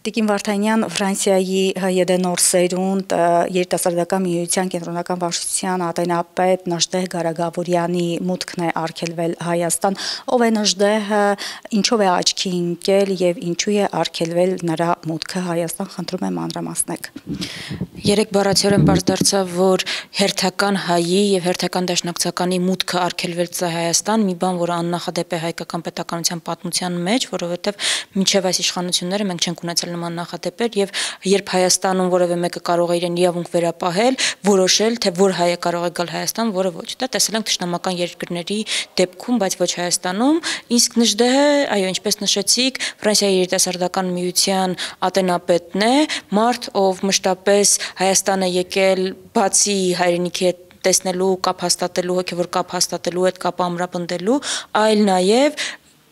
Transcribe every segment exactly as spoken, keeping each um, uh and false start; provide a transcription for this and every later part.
Տիկին Վարդանյան, Ֆրանսիայի ՀՅԴ սերունդ երիտասարդական միության կենտրոնական վարչության ատենապետ Նժդեհ Գարագավորյանի մուտքն է արգելվել Հայաստան, ով է Նժդեհը, ինչով է աչքի ընկել եւ ինչու է արգելվել նրա մուտքը Հայաստան, խնդրում եմ մանրամասնեք։ Երեք բառացիորեն պարզ դարձավ, որ հերթական հայի եւ հերթական դաշնակցականի մուտքը արգելվել է Հայաստան, մի բան, որը աննախադեպ է հայկական պետականության պատմության մեջ, որովհետեւ մինչեւ այս իշխանությունները մենք չենք ունեցել նման նախադեպեր եւ երբ Հայաստանում որևէ մեկը կարող է իրեն իրավունք վերապահել, որոշել, թե որ հայը կարող է գալ Հայաստան, որը ոչ, դա տեսել ենք թշնամական երկրների դեպքում, բայց ոչ Հայաստանում, իսկ Նժդեհը, այո, ինչպես նշեցիք, Ֆրանսիայի երիտասարդական միության ատենապետն է, մարդ, ով մշտապես Հայաստան է եկել բացի հայրենիքի հետ տեսնելու, կապ հաստատելու, հոգևոր կապ հաստատելու, այդ կապը ամրապնդելու, այլ նաև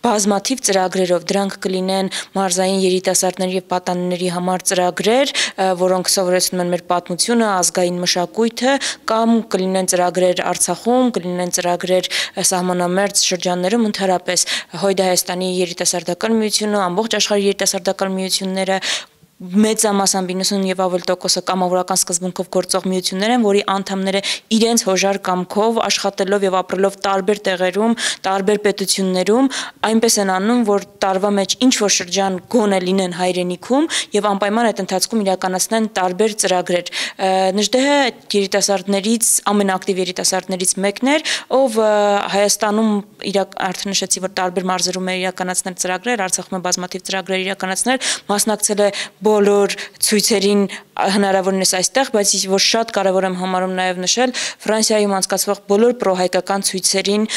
բազմաթիվ ծրագրերով, դրանք կլինեն մարզային երիտասարդների եւ պատանիների համար ծրագրեր, որոնք սովորեցնում են մեր պատմությունը, ազգային մշակույթը, կամ կլինեն ծրագրեր Արցախում, կլինեն ծրագրեր սահմանամերձ շրջաններում, ընդհանրապես Հույդ Հայաստանի երիտասարդական միությունը, ամբողջ աշխարհի երիտասարդական միությունները մեծամասամբ իննսուն եւ ավել տոկոսը կամավորական սկզբունքով գործող միություններ են, որի անդամները իրենց հոժար կամքով աշխատելով եւ ապրելով տարբեր տեղերում, տարբեր պետություններում, այնպես են անում, որ տարվա մեջ ինչ որ շրջան գոնե լինեն հայրենիքում եւ անպայման այդ ընթացքում իրականացնեն տարբեր ծրագրեր։ Նժդեհը երիտասարդներից ամենաակտիվ երիտասարդներից մեկն էր, ով Հայաստանում արդեն նշեցի, որ տարբեր մարզերում է իրականացնել ծրագրեր, Արցախում է բազմաթիվ ծրագրեր իրականացնել, մասնակցել է բոլոր ցույցերին հնարավորինս այստեղ, բայց որ շատ կարևոր եմ համարում նաև նշել Ֆրանսիայում անցկացվող բոլոր պրոհայկական ցույցերին,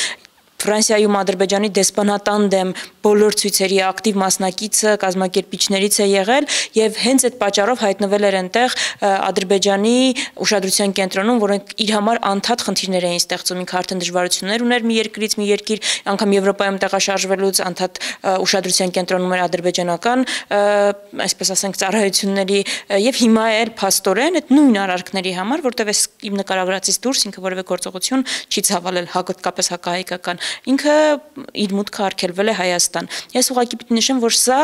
Ֆրանսիայում Ադրբեջանի դեսպանատան դեմ բոլոր ցույցերի ակտիվ մասնակիցը, կազմակերպիչներից է եղել եւ հենց այդ պատճառով հայտնվել էր այնտեղ Ադրբեջանի ուշադրության կենտրոնում, որոնք իր համար անդադ խնդիրներ էին ստեղծում, ինքը արդեն դժվարություններ ուներ մի երկրից մի երկիր, անգամ Եվրոպայում տեղաշարժվելուց անդադ ուշադրության կենտրոնում էր ադրբեջանական, այսպես ասենք, ծառայությունների եւ հիմա էլ փաստորեն այդ նույն արարքների համար, որտեղ էս իմ նկարագրածից դուրս ինքը որևէ գործողություն չի ցավալել հակոտկապես հակահայկական, ինքը իր մուտքը արգելվել է Հայաստան։ Ես ուղղակի պիտի նշեմ, որ սա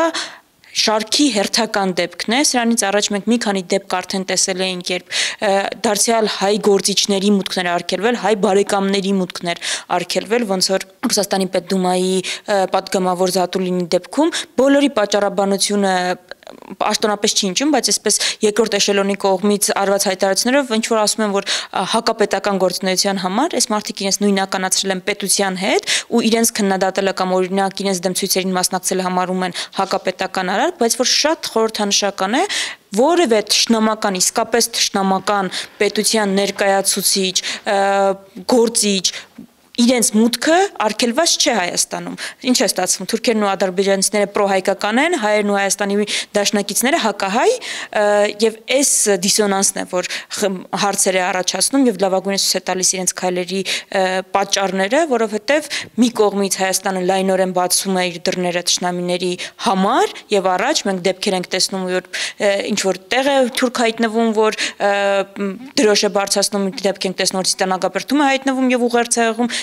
շարքի հերթական դեպքն է, սրանից առաջ մենք մի քանի դեպք արդեն տեսել էինք, երբ դարձյալ հայ գործիչների մուտքներ արգելվել, հայ բարեկամների մուտքներ արգելվել, ոնց որ Ռուսաստանի Պետդումայի պատգամավոր Զատուլինի դեպքում բոլորի պատճառաբանությունը աշտոնապես չի ընջում, բայց այսպես երկրորդ էշելոնի կողմից արված հայտարարություններով ինչ որ ասում են, որ հակապետական գործունեության համար այս մարդիկ իրենց նույնականացրել են պետության հետ ու իրենց քննադատելը կամ օրինակ իրենց դեմ ցույցերին մասնակցելը համարում են հակապետական արարք, բայց որ շատ խորհրդանշական է, որևէ թշնամական, իսկապես թշնամական պետության ներկայացուցիչ, գործիչ իրենց մուտքը արգելված չէ Հայաստանում։ Ինչ է ստացվում, թուրքերն ու ադրբեջանցիները պրոհայկական են, հայերն ու Հայաստանի դաշնակիցները հակահայ, եւ այս դիսոնանսն է, որ հարցեր է առաջացնում եւ լավագույնս ցույց է տալիս իրենց քայլերի պատճառները, որովհետեւ մի կողմից Հայաստանը լայնորեն բացում է իր դռները թշնամիների համար եւ առաջ մենք դեպքեր ենք տեսնում, որ ինչ որ տեղ է թուրք հայտնվում, որ դրոշ է բարձրացնում, դեպք ենք տեսնում, որ Ստանագաբերդում է հայտնվում եւ ուղերձ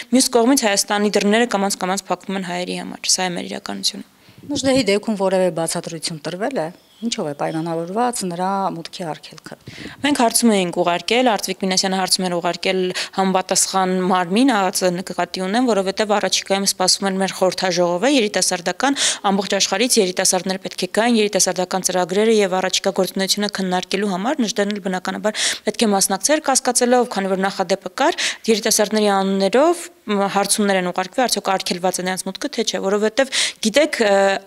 Մյուս կողմից Հայաստանի դռները կամաց-կամաց փակվում են հայերի համար, սա է մեր իրականությունը։ Նժդեհի դեպքում որևէ բացատրություն տրվել է, ինչով է պայմանավորված նրա մուտքի արգելքը։ Մենք հարցում էինք ուղարկել, Արտվիկ Մինասյանը հարցում էր ուղարկել համապատասխան մարմին, ԱԱԾ նկատի ունեմ, որովհետև առաջիկայում սպասվում էր մեր խորհրդաժողովը, երիտասարդական ամբողջ աշխարհից երիտասարդներ պետք է գային, երիտասարդական ծրագրերը եւ առաջիկա գործունեությունը քննարկելու համար Նժդեհն էլ բնականաբար պետք է մասնակցեր, կասկածելով, քանի որ նախադեպը կար, երիտասարդների անուններով հարցումներ են ուղարկվել, արդյոք արգելված է նրանց մուտքը, թե չէ, որովհետև գիտեք,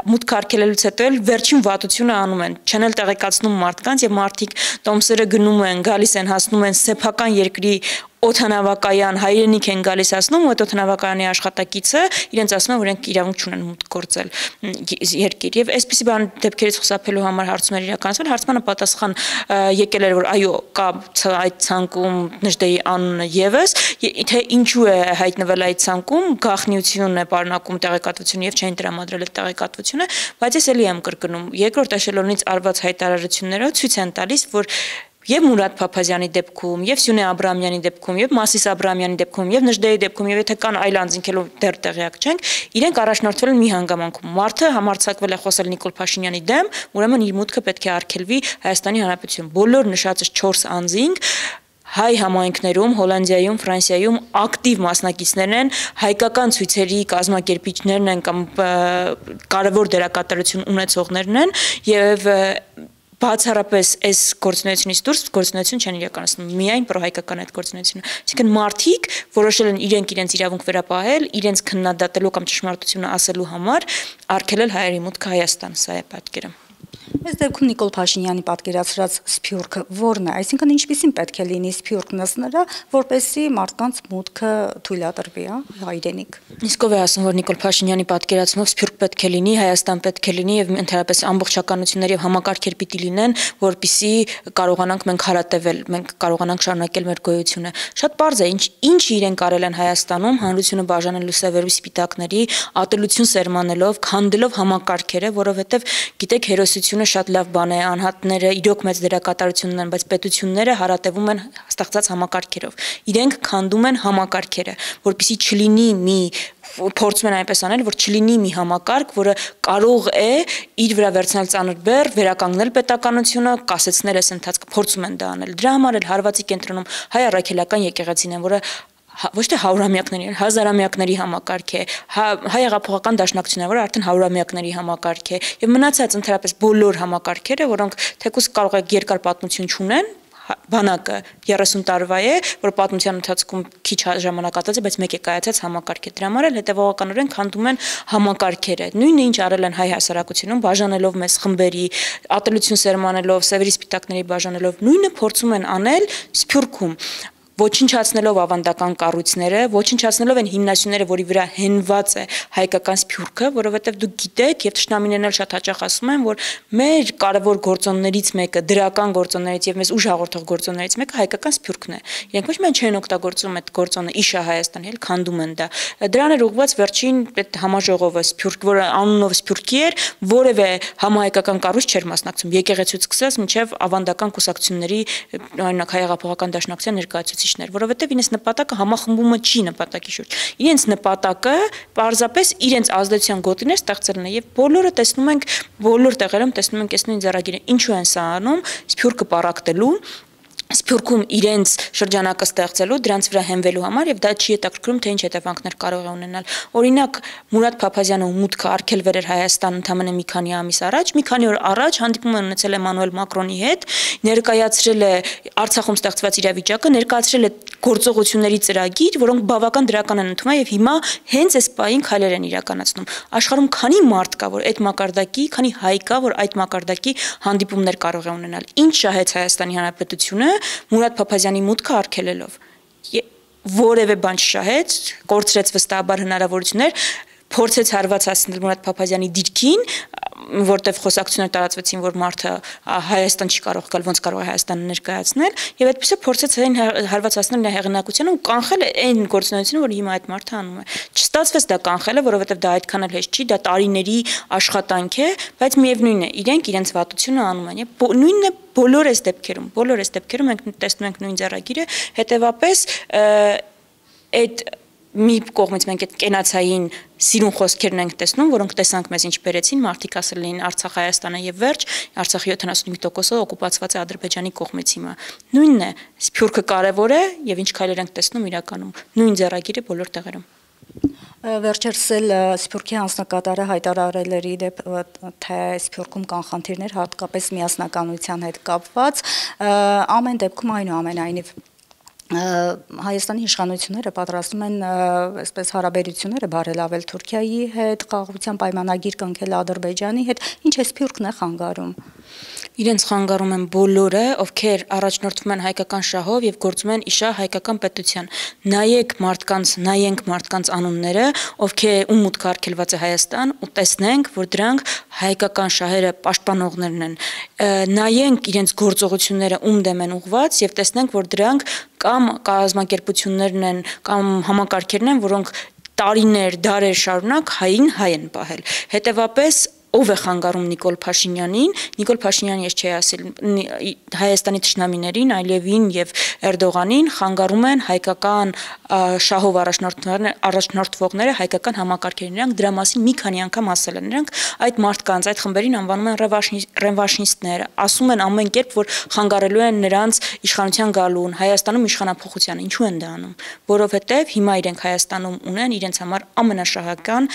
մուտքը արգելելուց հետո էլ վերջին վատությունը անում են, չեն էլ տեղեկացնում մարդկանց եւ մարդիկ տոմսերը գնում են, գալիս են, հասնում են սեփական երկրի օդանավակայան, հայրենիք են գալիս ասնում, ու այդ օդանավակայանի աշխատակիցը իրենց ասում է, որ իրենք իրավունք չունեն մուտք գործել երկիր։ Եվ այսպիսի բան դեպքերից խուսափելու համար հարցումներ իրականացվել, հարցմանը պատասխան եկել էր, որ այո, կա այդ ցանկում Նժդեհի անունը եւս, թե ինչու է հայտնվել այդ ցանկում, գաղտնիություն է պարունակում տեղեկատվությունը եւ չեն տրամադրել այդ տեղեկատվությունը, բայց ես էլի եմ կրկնում, երկրորդ էշելոնից արված հայտարարությունները ցույց են տալիս, որ եւ Մուրադ Փափազյանի դեպքում, եւ Սյունե Աբրամյանի դեպքում, եւ Մասիս Աբրամյանի դեպքում, եւ Նժդեի դեպքում, եւ եթե կան այլ անձինքելու դեռ տեղյակ չենք, իրենք առաջնորդվել են մի հանգամանքում։ Մարդը համարձակվել է խոսել Նիկոլ Փաշինյանի դեմ, ուրեմն իր մուտքը պետք է արգելվի Հայաստանի Հանրապետություն։ Բոլոր նշածս չորս անձինք հայ համայնքներում, Հոլանդիայում, Ֆրանսիայում ակտիվ մասնակիցներ են, հայկական ցույցերի կազմակերպիչներն են կամ կարևոր դերակատարություն ունեցողներն են եւ բացառապես այս գործունեությունից դուրս գործունեություն չեն իրականացնում, միայն պրոհայկական այդ գործունեությունը։ Այսինքն մարդիկ որոշել են իրենք իրենց իրավունք վերապահել, իրենց քննադատելու կամ ճշմարտությունը ասելու համար արգելել հայերի մուտքը Հայաստան, սա է պատկերը։ Այս դեպքում Նիկոլ Փաշինյանի պատկերացրած սփյուռքը ո՞րն է, այսինքն ինչպիսին պետք է լինի սփյուռքն ըստ նրա, որպեսզի մարդկանց մուտքը թույլատրվի, հայրենիք։ Իսկ ով է ասում, որ Նիկոլ Փաշինյանի պատկերացումով սփյուռք պետք է լինի, Հայաստան պետք է լինի եւ ընդհանրապես ամբողջականություններ եւ համակարգեր պիտի լինեն, որպիսի կարողանանք մենք հարատևել, մենք կարողանանք շարունակել մեր գոյությունը։ Շատ պարզ է, ինչ ինչ իրենք արել են Հայաստանում, հանրությունը բաժանելու սևերի սպիտակների, ատելություն սերմանելով, քանդելով համակարգերը, որովհետեւ գիտեք հերոսությունը շատ լավ բան է, անհատները իրոք մեծ դերակատարություն ունեն, բայց պետությունները հարատևում են ստեղծած համակարգերով։ Իրենք քանդում են համակարգերը, որպեսզի չլինի մի փորձում են այնպես անել, որ չլինի մի համակարգ, որը կարող է իր վրա վերցնել ծանր բեռ, վերականգնել պետականությունը, կասեցնել այս ընթացքը, փորձում են դա անել։ Դրա համար էլ հարվածի կենտրոնում հայ առաքելական եկեղեցին են, որը ոչ թե հարյուրամյակների, հազարամյակների համակարգ է, հայ հեղափոխական դաշնակցությունը, որը արդեն հարյուրամյակների համակարգ է, եւ մնացած ընդհանրապես բոլոր համակարգերը, որոնք թեկուզ կարող է երկար պատմություն չունեն, բանակը երեսուն տարվա է, որ պատմության ընթացքում քիչ ժամանակ անցած է, բայց մեկ է կայացած համակարգ է։ Դրա համար էլ հետևողականորեն քանդում են համակարգերը։ Նույնը ինչ արել են հայ հասարակությունում, բաժանելով մեզ խմբերի, ատելություն սերմանելով, սևերի սպիտակների բաժանելով, նույնը փորձում են անել Սփյուռքում, ոչնչացնելով ավանդական կառույցները, ոչնչացնելով են հիմնասյուները, որի վրա հենված է հայկական սփյուռքը, որովհետև դուք գիտեք եւ թշնամիներն էլ շատ հաճախ ասում են, որ մեր կարևոր գործոններից մեկը, դրական գործոններից եւ մեզ ուժ հաղորդող գործոններից մեկը հայկական սփյուռքն է։ Իրենք ոչ միայն չեն օգտագործում այդ գործոնը իշա Հայաստան, էլ քանդում են դա։ Դրան էր ուղղված վերջին այդ համաժողովը սփյուռք, որը անունով սփյուռքի էր, որևէ համահայկական կառույց չէր մասնակցում, եկեղեցուց սկսած մինչեւ ավանդական կուսակցությունների, օրինակ հայ հեղափոխական դաշնակցության ներկայացուցիչ, որովհետև իրենց նպատակը համախմբումը չի նպատակի շուրջ։ Իրենց նպատակը պարզապես իրենց ազդեցության գոտիներ ստեղծելն է եւ բոլորը տեսնում ենք, բոլոր տեղերում տեսնում ենք այս նույն ձեռագիրը։ Ինչու են սա անում, սփյուռքը պարակտելու, Սփյուռքում իրենց շրջանակը ստեղծելու, դրանց վրա հենվելու համար եւ դա չի հետաքրքրում, թե ինչ հետևանքներ կարող է ունենալ։ Օրինակ Մուրադ Փափազյանը մուտքը արգելվել էր Հայաստան ընդամենը մի քանի ամիս առաջ, մի քանի օր առաջ հանդիպում է ունեցել Էմանուել Մակրոնի հետ, ներկայացրել է Արցախում ստեղծված իրավիճակը, ներկայացրել է գործողությունների ծրագիր, որոնք բավական դրական են ընդունվում եւ հիմա հենց այս պահին քայլեր են իրականացնում։ Աշխարհում քանի մարդ կա, որ այդ մակարդակի, քանի հայ կա, որ այդ մակարդակի հանդիպումներ կարող է ունենալ։ Ինչ շահեց Հայաստանի Հանրապետությունը Մուրադ Փափազյանի մուտքը արգելելով, որևէ բան չշահեց, կորցրեց վստահաբար հնարավորություններ, փորձեց հարված հասնել Մուրադ Փափազյանի դիրքին, որտեղ խոսակցություններ տարածվեցին, որ մարդը Հայաստան չի կարող գալ, ոնց կարող է Հայաստանը ներկայացնել, եւ այդպես է փորձեց այն հարված հասնել նա հեղինակությունը ու կանխել այն գործունեությունը, որ հիմա այդ մարդը անում է։ Չստացվեց դա կանխելը, որովհետեւ դա այդքան էլ հեշտ չի, դա տարիների աշխատանք է, բայց միևնույն է, իրենք իրենց վատությունը անում են։ Նույնն է բոլոր այս դեպքերում, բոլոր այս դեպքերում մենք տեսնում ենք նույն ձեռագիրը, հետեւապես այդ մի կողմից մենք այդ կենացային սիրուն խոսքերն ենք տեսնում, որոնք տեսանք մեզ ինչ բերեցին, մարդիկ ասել էին Արցախ Հայաստանը եւ վերջ, Արցախի յոթանասունհինգ տոկոսը օկուպացված է Ադրբեջանի կողմից հիմա։ Նույնն է, սփյուռքը կարևոր է եւ ինչ քայլեր ենք տեսնում իրականում, նույն ձեռագիրը բոլոր տեղերում։ Վերջերս էլ Սփյուռքի անձնակատարը հայտարարել էր իդեպ, թե Սփյուռքում կան խնդիրներ, հատկապես միասնականության հետ կապված, ամեն դեպքում այնուամենայնիվ Հայաստանի իշխանությունները պատրաստում են այսպես հարաբերությունները բարելավել Թուրքիայի հետ, խաղաղության պայմանագիր կնքել Ադրբեջանի հետ, ինչ է Սփյուռքն է խանգարում։ Իրենց խանգարում են բոլորը, ովքեր առաջնորդվում են հայկական շահով եւ գործում են իշա հայկական պետության։ Նայեք մարդկանց, նայենք մարդկանց անունները, ովքեր ում մուտքը արգելված է Հայաստան, ու տեսնենք, որ դրանք հայկական շահերը պաշտպանողներն են։ Նայենք իրենց գործողությունները ում դեմ են ուղված եւ տեսնենք, որ դրանք կամ կազմակերպություններն են, կամ համակարգերն են, որոնք տարիներ, դարեր շարունակ հային հայ են պահել։ Հետևաբար ով է խանգարում Նիկոլ Փաշինյանին, Նիկոլ Փաշինյանը ես չի ասել Հայաստանի թշնամիներին, այլևին եւ Էրդողանին խանգարում են հայկական շահով առաջնորդվողները, հայկական համակարգերին, նրանք դրա մասին մի քանի անգամ ասել են, նրանք այդ մարդկանց, այդ խմբերին անվանում են ռևանշիստներ, ասում են ամեն կերպ, որ խանգարելու են նրանց իշխանության գալուն, Հայաստանում իշխանափոխությանը, ինչու են դա անում, որովհետեւ հիմա իրենք Հայաստանում ունեն իրենց համար ամենաշահական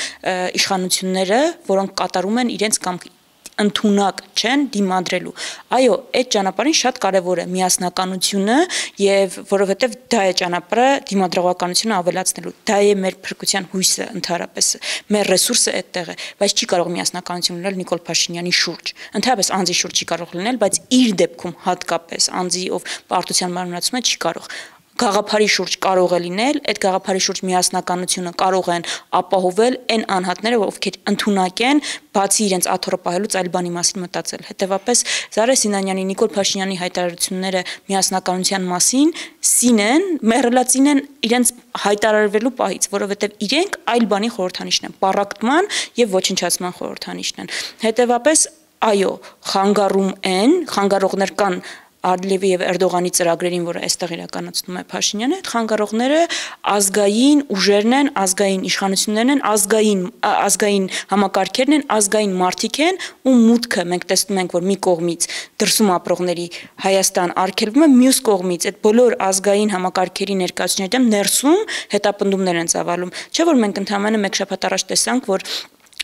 իշխանությունները, որոնք կատարում են իրենց կամք ընդունակ չեն դիմադրելու։ Այո, այդ ճանապարհին շատ կարևոր է միասնականությունը եւ որովհետեւ դա է ճանապարհը դիմադրողականությունը ավելացնելու։ Դա է մեր փրկության հույսը ընդհանրապես։ Մեր ռեսուրսը այդտեղ է, բայց չի կարող միասնականություն լինել Նիկոլ Փաշինյանի շուրջ։ Ընդհանրապես անձի շուրջ չի կարող լինել, բայց իր դեպքում հատկապես անձի ով պարտության մարմնացում է չի կարող։ Գաղափարի շուրջ կարող է լինել, այդ գաղափարի շուրջ միասնականությունը կարող են ապահովել այն անհատները, ովքեր ընդունակ են, բացի իրենց աթոռը պահելուց այլ բանի մասին մտածել։ Հետևաբար Զարե Սինանյանի, Նիկոլ Փաշինյանի հայտարարությունները միասնականության մասին սին են, մեռելածին են իրենց հայտարարվելու պահից, որովհետև իրենք այլ բանի խորհրդանիշն են, պառակտման եւ ոչնչացման խորհրդանիշն են։ Հետևաբար այո, խանգարում են, խանգարողներ կան Ալիևի եւ Էրդողանի ծրագրերին, որը այստեղ իրականացնում է Փաշինյանը, այդ խանգարողները ազգային ուժերն են, ազգային իշխանություններն են, ազգային ազգային համակարգերն են, ազգային մարդիկ են, ու մուտքը մենք տեսնում ենք, որ մի կողմից դրսում ապրողների Հայաստան արգելվում է, մյուս կողմից այդ բոլոր ազգային համակարգերի ներկայացուցիչների դեմ ներսում հետապնդումներ են ծավալում։ Չէ՞ որ մենք ընդհանրապես մեկ շաբաթ առաջ տեսանք, որ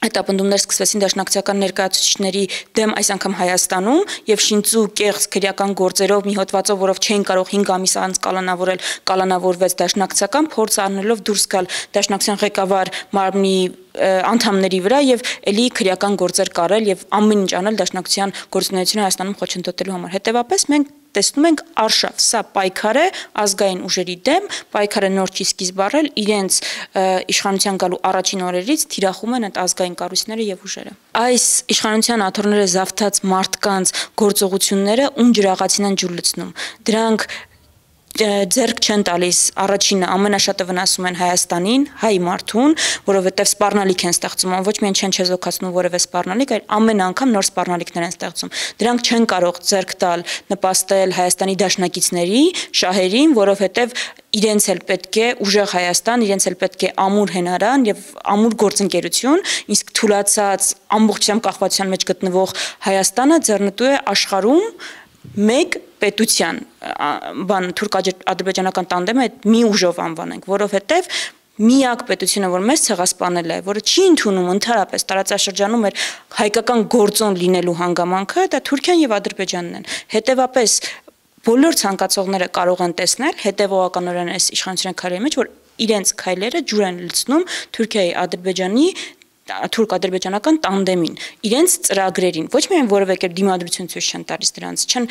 հետապնդումներ սկսվեցին դաշնակցական ներկայացուցիչների դեմ այս անգամ Հայաստանում եւ շինծու կեղծ քրեական գործերով մի հոդվածով, որով չէին կարող հինգ ամիս անց կալանավորել, կալանավորվեց դաշնակցական, փորձ առնելով դուրս գալ դաշնակցության ղեկավար մարմնի անդամների վրա եւ ելի քրեական գործեր կարել եւ ամեն ինչ անել դաշնակցության գործունեությունը Հայաստանում խոչընդոտելու համար։ Հետևաբար մենք տեսնում ենք արշավ, սա պայքար է ազգային ուժերի դեմ, պայքարը նոր չի սկիզբ առել, իրենց իշխանության գալու առաջին օրերից թիրախում են այդ ազգային կառույցները եւ ուժերը։ Այս իշխանության աթոռները զավթած մարդկանց գործողությունները ում ջրաղացին են ջուր լցնում։ Դրանք ձեռք չեն տալիս առաջինը ամենաշատը վնասում են Հայաստանին, հայ մարդուն, որովհետև սպառնալիք են ստեղծում, ոչ միայն չեն չեզոքացնում որևէ սպառնալիք, այլ ամեն անգամ նոր սպառնալիքներ են ստեղծում։ Դրանք չեն կարող ձեռք տալ, նպաստել Հայաստանի դաշնակիցների, շահերին, որովհետև իրենց էլ պետք է ուժեղ Հայաստան, իրենց էլ պետք է ամուր հենարան եւ ամուր գործընկերություն, իսկ թուլացած ամբողջությամբ կախվածության մեջ գտնվող Հայաստանը ձեռնտու է աշխարհում մեկ պետության բան թուրք-ադրբեջանական տանդեմը մի ուժով անվանենք, որովհետև միակ պետությունը, որ մեզ ցեղասպանել է, որը չի ընդունում ընդհանրապես տարածաշրջանում էր հայկական գործոն լինելու հանգամանքը, դա Թուրքիան եւ Ադրբեջանն են։ Հետևաբար բոլոր ցանկացողները կարող են տեսնել հետևողականորեն այս իշխանության քայլերի մեջ, որ իրենց քայլերը ջուր են լցնում Թուրքիայի, Ադրբեջանի թուրք-ադրբեջանական տանդեմին, իրենց ծրագրերին, ոչ միայն որևէ կերպ դիմադրություն ցույց չեն տալիս դրանց, չեն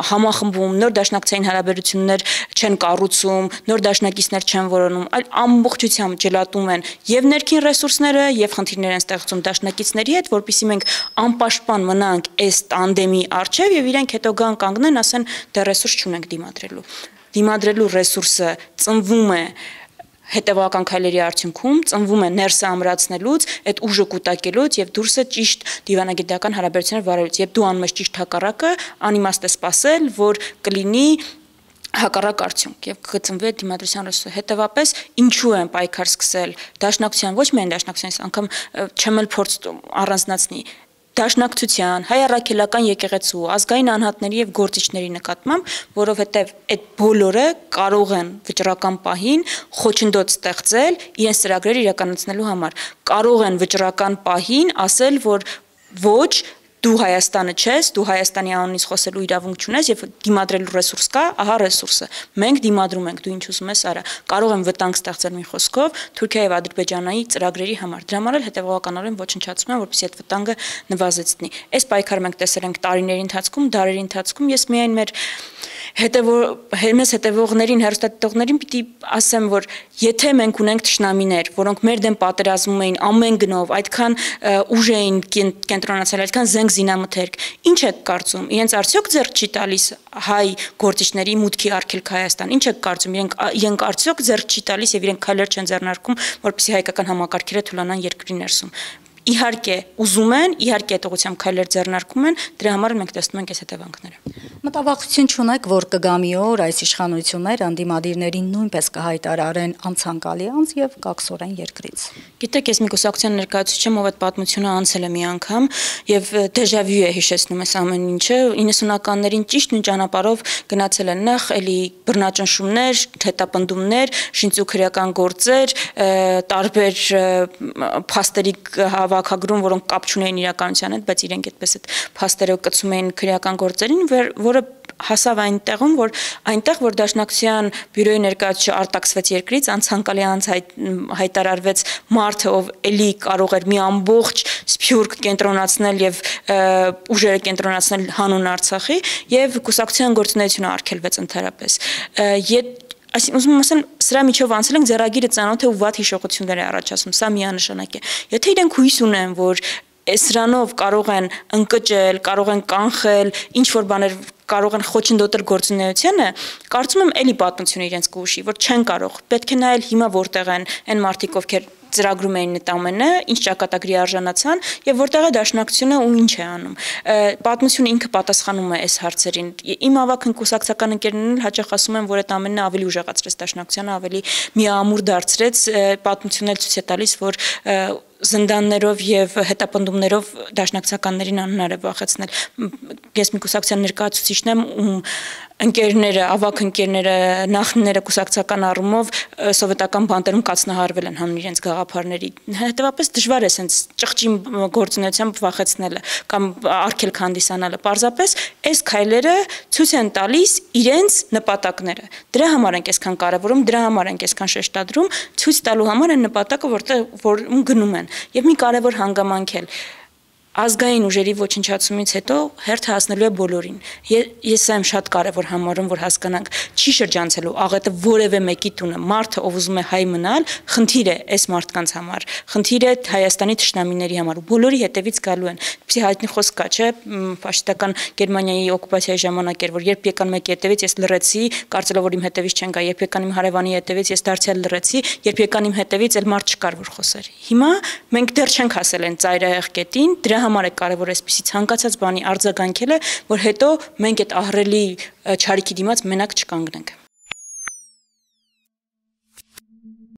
համախմբում, նոր դաշնակցային հարաբերություններ չեն կառուցում, նոր դաշնակիցներ չեն որոնում, այլ ամբողջությամբ ջլատում են եւ ներքին ռեսուրսները եւ խնդիրներ են ստեղծում դաշնակիցների հետ, որpիսի մենք անպաշտպան մնանք այս տանդեմի առջեւ եւ իրենք հետո գան կանգնեն, ասեն դե ռեսուրս չունենք դիմադրելու։ Դիմադրելու ռեսուրսը ծնվում է հետևական քայլերի արդյունքում, ծնվում է ներսը ամրացնելուց, այդ ուժը կուտակելուց եւ դուրսը ճիշտ դիվանագիտական հարաբերություններ վարելուց, եւ դու անում ես ճիշտ հակառակը, անիմաստ է սпасել, որ կլինի հակառակ արդյունք եւ կծնվի այդ դիմադրության ռեսուրսը։ Հետևաբար ինչու են պայքար սկսել դաշնակցության, ոչ միայն դաշնակցության, անգամ չեմ էլ փորձ առանձնացնի դաշնակցության, հայ առաքելական եկեղեցու, ազգային անհատների եւ գործիչների նկատմամբ, որովհետեւ այդ բոլորը կարող են վճռական պահին խոչընդոտ ստեղծել իրենց ծրագրերը իրականացնելու համար։ Կարող են վճռական պահին ասել, որ ոչ դու Հայաստանը չես, դու Հայաստանի անունից խոսելու իրավունք չունես եւ դիմադրելու ռեսուրս կա, ահա ռեսուրսը։ Մենք դիմադրում ենք, դու ինչ ուզում ես արա։ Կարող եմ վտանգ ստեղծել մի խոսքով Թուրքիայի եւ Ադրբեջանի ծրագրերի համար։ Դրա համար էլ հետեւողականորեն ոչնչացում են, որպեսզի այդ վտանգը նվազեցնի։ Այս պայքարը մենք տեսել ենք տարիների ընթացքում, դարերի ընթացքում, ես միայն մեր հետևող հետևողներին, հեռուստադիտողներին պիտի ասեմ, որ եթե մենք ունենք թշնամիներ, որոնք մեր դեմ պատերազմում էին ամեն գնով, այդքան ուժ էին կենտրոնացել, այդքան զենք զինամթերք, ինչ եք կարծում, իրենց արդյոք ձեռք չի տալիս հայ գործիչների մուտքի արգելք Հայաստան, ինչ եք կարծում, իրենք իրենք արդյոք ձեռք չի տալիս եւ իրենք քայլեր չեն ձեռնարկում, որպեսզի հայկական համակարգերը թուլանան երկրի ներսում։ իհարկե ուզում են, իհարկե այդ ուղղությամբ քայլեր ձեռնարկում են, դրա համար մենք տեսնում ենք այս հետևանքները։ Մտավախություն չունեք, որ կգա մի օր այս իշխանությունները ընդդիմադիրներին նույնպես կհայտարարեն անցանկալի անձ եւ կաքսորեն երկրից։ Գիտեք, ես մի կուսակցության ներկայացուցիչ եմ, ով այդ պատմությունը անցել է մի անգամ եւ դեժավյու է հիշեցնում այս ամեն ինչը։ իննսունականներին ճիշտ նույն ճանապարհով գնացել են նախ էլի բռնաճնշումներ, հետապնդումներ, շինծուքրական գործեր, տարբեր փաստերի հավաքագրում, որոնք կապ չունեին իրականության հետ, բայց իրենք այդպես այդ փաստերը կցում էին քրեական գործերին, որը հասավ այնտեղում, որ այնտեղ, որ Դաշնակցության բյուրոյի ներկայացուցիչը արտաքսվեց երկրից, անցանկալի անց հայտարարվեց մարդը, ով էլի կարող էր մի ամբողջ սփյուռք կենտրոնացնել եւ ուժերը կենտրոնացնել հանուն Արցախի, եւ կուսակցության գործունեությունը արգելվեց ընդհանրապես։ Այսինքն ուզում եմ ասել, սրա միջով անցել ենք ձեռագիրը ծանոթ է ու վատ հիշողություններ է առաջացնում, սա միանշանակ է։ Եթե իրենք հույս ունեն, որ սրանով կարող են ընկճել, կարող են կանխել, ինչ որ բաներ կարող են խոչընդոտել գործունեությանը, կարծում եմ էլի պատմությունը իրենց կուշի, որ չեն կարող։ Պետք է նայել հիմա որտեղ են այն մարդիկ, ովքեր ծրագրում էին այդ ամենը, ինչ ճակատագրի արժանացան եւ որտեղ է Դաշնակցությունը ու ինչ է անում։ Պատմությունը ինքը պատասխանում է այս հարցերին։ Իմ ավագ կուսակցական ընկերներն էլ հաճախ ասում են, որ այդ ամենը ավելի ուժեղացրեց Դաշնակցությանը, ավելի միամուր դարձրեց, պատմությունն էլ ցույց է տալիս, որ զնդաններով եւ հետապնդումներով դաշնակցականներին անհնար է վախեցնել։ Ես մի կուսակցության ներկայացուցիչն եմ, ում ընկերները, ավագ ընկերները, նախնիները կուսակցական առումով սովետական բանտերում կացնահարվել են հանուն իրենց գաղափարների։ Հետևաբար դժվար է sense ճղճի գործունեությամբ վախեցնելը կամ արգելք հանդիսանալը։ Պարզապես այս քայլերը ցույց են տալիս իրենց նպատակները։ Դրա համար ենք այսքան կարևորում, դրա համար ենք այսքան շեշտադրում, ցույց տալու համար են նպատակը, որտեղ որում գնում են։ Եվ մի կարևոր հանգամանք էլ ազգային ուժերի ոչնչացումից հետո հերթը հասնելու է բոլորին։ Ես սա եմ շատ կարևոր համարում, որ հասկանանք, չի շրջանցելու աղետը որևէ մեկի տունը, մարդը, ով ուզում է հայ մնալ, խնդիր է այս մարդկանց համար, խնդիր է Հայաստանի թշնամիների համար, ու բոլորի հետևից գալու են։ Ինչի հայտնի խոսք կա, չէ՞, ֆաշիստական Գերմանիայի օկուպացիայի ժամանակ էր, որ երբ եկան մեկի հետևից ես լռեցի, կարծելով որ իմ հետևից չեն գա, երբ եկան իմ հարևանի հետևից ես դարձյալ լռեցի, երբ եկան իմ հետևից էլ մարդ չկար որ խոսեր։ Հիմա մենք դեռ չենք հասել այն ծայրահեղ կետին, դրա համար է կարևոր այսպիսի ցանկացած բանի արձագանքելը, որ հետո մենք այդ ահռելի չարիքի դիմաց մենակ չկանգնենք։